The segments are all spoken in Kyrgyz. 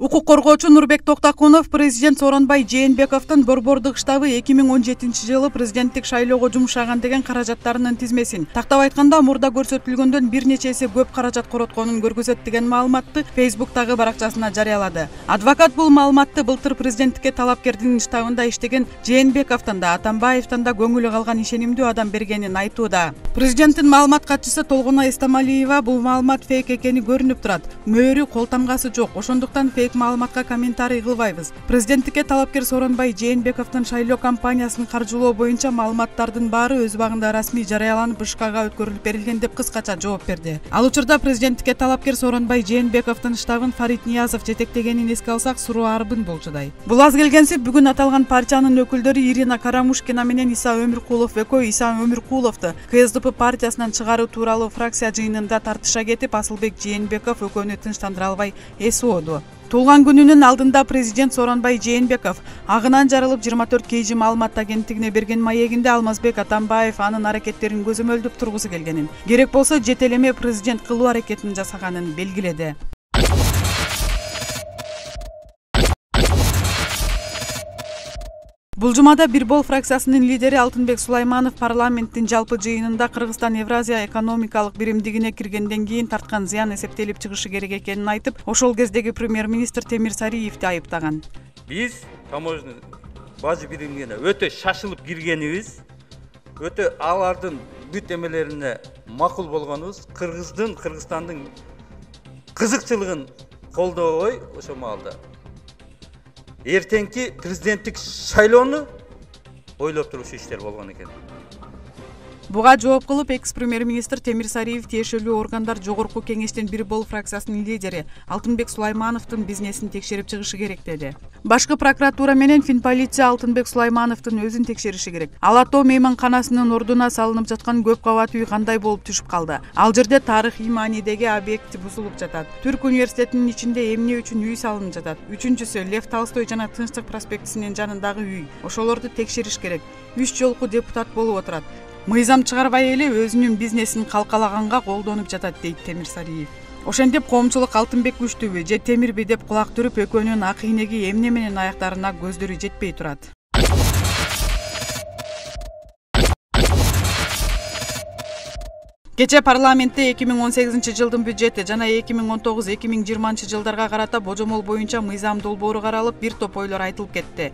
Укук коргоочу Нурбек Токтакунов президент Сооронбай Жээнбековдун Борбордук штабы 2017-жылы президенттик шайлоого жумшаган деген каражаттарынын тизмесин, тактап айтканда мурда көрсөтүлгөндөн бир нече эсе көп каражат коротконун көргөзөт деген маалыматты Facebook'тагы баракчасына жарыялады. Адвокат бул маалыматты былтыр президенттикке талапкердин штабында иштеген Жээнбековдун да, Атамбаевдин да көңүлү калган ишенимдүү адам бергенин айтууда. Президенттин маалымат катчысы Толгонай Эстамалиева бул маалымат фейк экени көрүнүп турат. Мөөрү, кол тамгасы жок. Ошондуктан фейк маалыматка комментарий кылбайбыз. Президенттикке талапкер Сооронбай Жээнбековдун шайлоо кампаниясын каржылоо боюнча маалыматтардын баары өз убагында расмий жарыяланып, ышкага өткөрүлүп берилген деп кыскача жооп берди. Ал учурда президенттикке талапкер Сооронбай Жээнбековдун штабын Фарид Ниязов жетектегенин эске алсак, суроо арбын болчудай. Бул аз келгенси бүгүн аталган партиянын өкүлдөрү Ирина Карамушкина менен Иса Өмүркулов экөө Иса Өмүркуловду КСДП партиясынан чыгаруу тууралуу фракция жыйынында тартыша кетип, Асылбек Жээнбеков экөөнү тынчтандыра албай СОду. Туулган күнүнүн алдында президент Сооронбай Жээнбеков агынан жарылып 24 KG маалымат агенттигине берген маегинде Алмазбек Атамбаев анын аракеттерин көзөмөлдөп тургусу келгенин, керек болсо жетелеме президент кылуу аракетин жасаганын белгиледи. Бул жумада Бир Бол фракциясынын лидери Алтынбек Сулайманов парламенттин жалпы жыйынында Кыргызстан Евразия экономикалык биримдигине киргенден кийин тарткан зыян эсептелип чыгышы керек экенин айтып, ошол кездеги премьер-министр Темир Сариевди айыптаган. Биз таможня бажы биримине өтө шашылып киргенибиз, өтө алардын бүт эмелерине макул болгонубуз, Кыргызстандын кызыкчылыгын колдобой ошо маалда эртеңки президенттик шайлоону ойлоп турушуу иштер болгон экен. Буга жооп кылып, экс-премьер-министр Темир Сариев тиешелүү органдар Жогорку кеңештин Бир Бол фракциясынын лидери Алтынбек Сулаймановдун бизнесин текшерип чыгышы керек деди. Башкы прокуратура менен Финполиция Алтынбек Сулаймановдун өзүн текшериши керек. Ал Ато мейманканасынын ордуна салынып жаткан көп кабат үй кандай болуп түшүп калды? Ал жерде тарыхый маанидеги объект бузулуп жатат. Түрк университетинин ичинде эмне үчүн үй салынып жатат? Үчүнчүсү, Лев Толстой жана Тынчтык проспектисинин жанындагы үй. Ошолорду текшериш керек. 3 жолку депутат болуп отурат. Мыйзам чыгарбай эле өзүнүн бизнесин калкалаганга колдонуп жатат, дейт Темир Сариев. Ошентип коомчулук Алтынбек күчтүүбү же Темирби деп кулак түрүп, экөөнүн акыйнеги эмне менен аяктарына көздөрү жетпей турат. Кече парламентте 2018-жылдын бюджети жана 2019-2020 жылдарга карата божомол боюнча мыйзам долбоору каралып, бир топ ойлор айтылып кетти.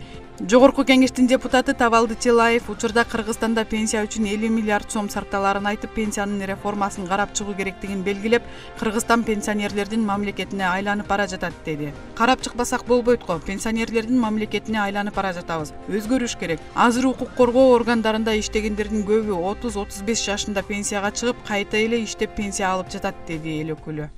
Жогорку кеңештин депутаты Тавалды Тилаев учурда Кыргызстанда пенсия үчүн 50 миллиард сом сарпталарын айтып, пенсиянын реформасын карап чыгуу керектигин белгилеп, Кыргызстан пенсионерлердин мамлекетине айланып бара жатат деди. Карап чыкпасак болбойт го, пенсионерлердин мамлекетине айланып бара жатабыз. Өзгөрүш керек. Азыр укук коргоо органдарында иштегендердин көбү 30-35 жашында пенсияга чыгып, кайта эле иштеп пенсия алып жатат, деди эл өкүлү.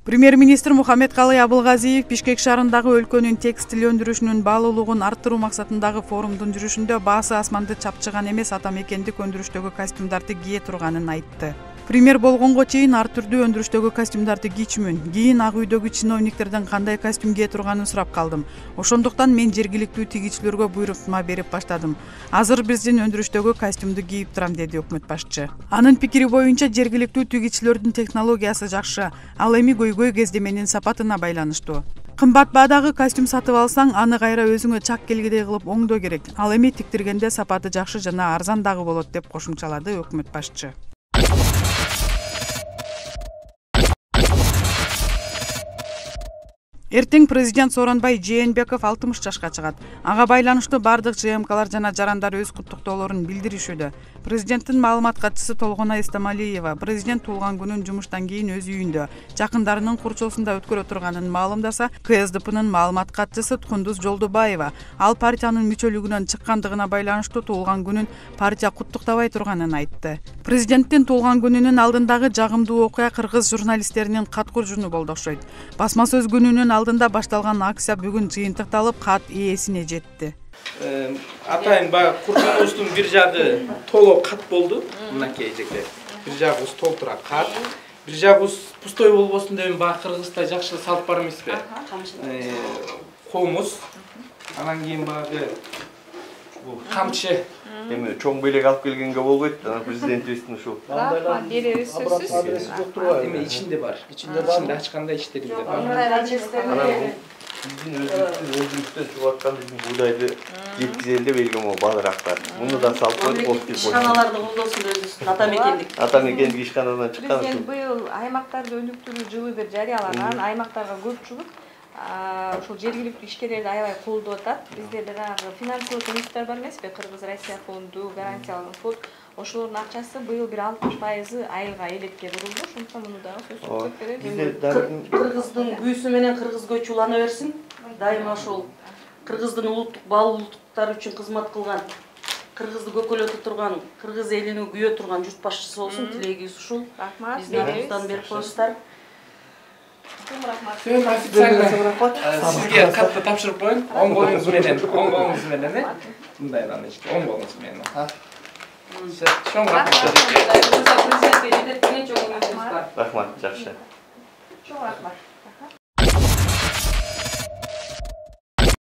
Премьер-министр Мухаммедкалый Абылгазиев Бишкек шаарындагы өлкөнүн текстиль өндүрүшүнүн баалуулугун арттыруу максатындагы форумдун жүрүшүндө баасы асманды чапчыган эмес атамекендик өндүрүштөгү костюмдарды кие турганын айтты. Премьер болгонго чейин ар түрдүү өндүрүштөгү костюмдарды кийчүмүн. Кийин Ак үйдөгү чиновниктерден кандай костюм кие турганын сурап калдым. Ошондуктан мен жергиликтүү тигичилерге буйрутма берип баштадым. Азыр биздин өндүрүштөгү костюмду кийип турам, деди өкмөт башчы. Анын пикири боюнча жергиликтүү тигичилердин технологиясы жакшы, ал эми көйгөй кездеменин сапатына байланыштуу. Кымбат баадагы костюм сатып алсаң, аны кайра өзүңө чак келгидей кылып оңдоо керек. Ал эми тиктиргенде сапаты жакшы жана арзан дагы болот, деп кошумчалады өкмөт башчы. Эртең президент Сооронбай Жээнбеков 60 жашка чыгат. Ага байланыштуу бардык ЖМКлар жана жарандар өз куттуктоолорун билдиришүүдө. Президенттин маалымат катчысы Толгонай Эстамалиева президент туулган күнүн жумуштан кийин өз үйүндө жакындарынын курчоосунда өткөрө турганын маалымдаса, КСДПнын маалымат катчысы Кундуз Жолдубаева ал партиянын мүчөлүгүнөн чыккандыгына байланыштуу туулган күнүн партия куттуктабай турганын айтты. Президенттин туулган күнүнүн алдындагы жагымдуу окуя кыргыз журналисттеринин кат куржуну болду окшойт. Басма сөз күнүнүн алдында башталган акция бүгүн жыйынтыкталып, кат ээсине жетти. Атайын баягы куржунубуздун бир жагы толо кат болду. Мынакей эжеке. Бир жагыбыз толтура кат. Бир жагыбыз пустой болбосун деп баягы Кыргызда жакшы салып бар эмеспи? Комуз. Анан кийин баягы бул камчы Эми чоң белек алып келгенге болбойт, анан президентибиздин ушул. Рахмат, беребиз сөзсүз. Адреси жок турбайбы? Эми ичинде бар. Ичинде ачканда иштеринде бар. Анан биздин өзүбүздүн өндүрүштөн чыгып аткан биздин буйдайды жеткизели деп элге могу баалыраактар. Муну да салып коюп болуп кетти. Ишканаларды колдосун өзүбүздүн ата мекендик. Ата мекендик ишканадан чыккан Президент быйыл аймактарды өнүктүрүү жылы деп жарыялаган. Аймактарга көпчүлүк ошол жергиликтүү ишкерлерди аябай колдоп атат. Бизде жанагы финансылык институттар бар эмеспи? Кыргыз-Россия фонду, гарантиялык фонд. Ошолордун акчасы быйыл бир 60% айылга элекке бурулду. Ошондуктан муну дагы сөзсүз беребиз. Бизде Кыргыздын күйүүсү менен кыргыз көчү улана берсин. Дайыма ошол кыргыздын улуттук бал улуттуктары үчүн кызмат кылган, кыргызды көкөлөтө турган, кыргыз элини күйөө турган журт башчысы болсун. Тилегибиз ушул. Рахмат. Биздин атыбыздан берип коюңуздар. Рахмат. Сөн официально сизге катты тапшырып коеюн. Оң колуңуз менен, мындай ички оң колуңуз менен. Чоң рахмат. рахмат, жакшы. Чоң рахмат.